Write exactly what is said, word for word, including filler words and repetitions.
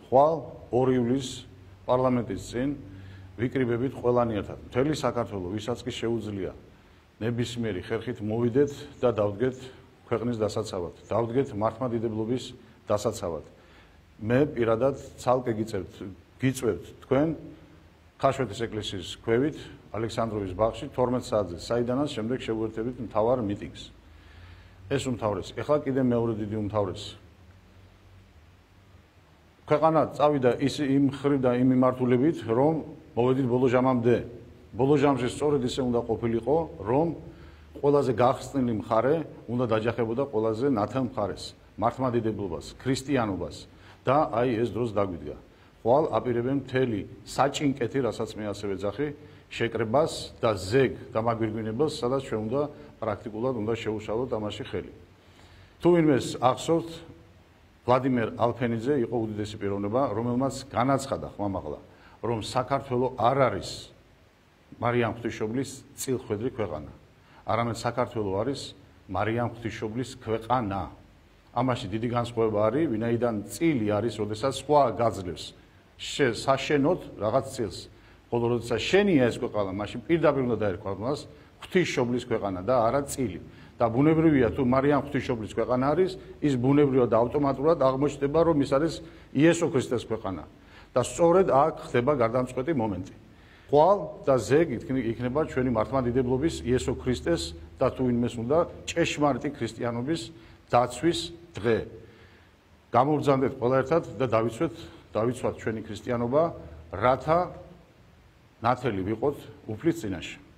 ხვალ ორი ივლისს პარლამენტის წინ ვიკრიბებით ყველანი ერთად. მთელი საქართველო, ვისაც კი შეუძლია ნებისმიერი ხერხით მოვიდეთ და დავდგეთ ქვეყნის დასაცავად. დავდგეთ მართლმადიდებლობის დასაცავად. მე პირადად ცალკე გიწევთ, გიწევთ თქვენ ხაშვეთის ეკლესიის ქვევით ალექსანდროვის ბაღში თორმეტ საათზე, საიდანაც შემდეგ შევუერთებით მთავარ მიტინგს. ეს უმთავრესი. ეხლა კიდე მეორე დიდი უმთავრესი. ქვეყანა წავიდა ის იმ ხრივ და იმ მიმართულებით, რომ მოვედით ბოლო ჟამამდე. ბოლო ჟამში სწორედ ისე უნდა ყოფილიყო, რომ ყველაზე გახსნილი მხარე უნდა დაჯახებოდა ყველაზე ნათელ მხარეს, მართლმადიდებლობას, ქრისტიანობას და აი ეს დროს დაგვიდგა. ხვალ აპირებენ მთელი საჭინკეთი, რასაც მე ასევე ვეძახი, შეკრებას და ზეგ დამაგვირგვინებას, სადაც ჩვენ უნდა პრაქტიკულად უნდა შეუშალოთ ამაში ხელი. თუ ვინმეს ახსოვთ, ვლადიმერ ალფენიძე იყო უდიდესი პიროვნება, რომელმაც განაცხადა ხმამაღლა, რომ საქართველო არ არის მარიამ ღვთისმშობლის წილხვედრი ქვეყანა. არამედ საქართველო არის მარიამ ღვთისმშობლის ქვეყანა. ამაში დიდი განსხვავება არის, ვინაიდან წილი არის, როდესაც სხვა გაძლევს საშენოდ რაღაც წილს. ხოლო როდესაც შენია ეს ქვეყანა, მაშინ პირდაპირ უნდა დაერქვა მას ღვთისმშობლის ქვეყანა და არა წილი. და ბუნებრივია, თუ მარიამ ღვთისმშობლის ქვეყანა არის, ის ბუნებრივად და ავტომატურად აღმოჩნდება, რომ ის არის იესო ქრისტეს ქვეყანა. და სწორედ აქ ხდება გარდამწყვეტი მომენტი. ხვალ და ზეგ იქნება ჩვენი მართლმადიდებლობის იესო ქრისტეს და თუ ვინმეს უნდა ჭეშმარიტი ქრისტიანობის დაცვის დღე. გამოვბრძანდეთ ყველა ერთად და დავიცვეთ, დავიცვათ ჩვენი ქრისტიანობა, რათა ნათელი ვიყოთ უფლის წინაშე.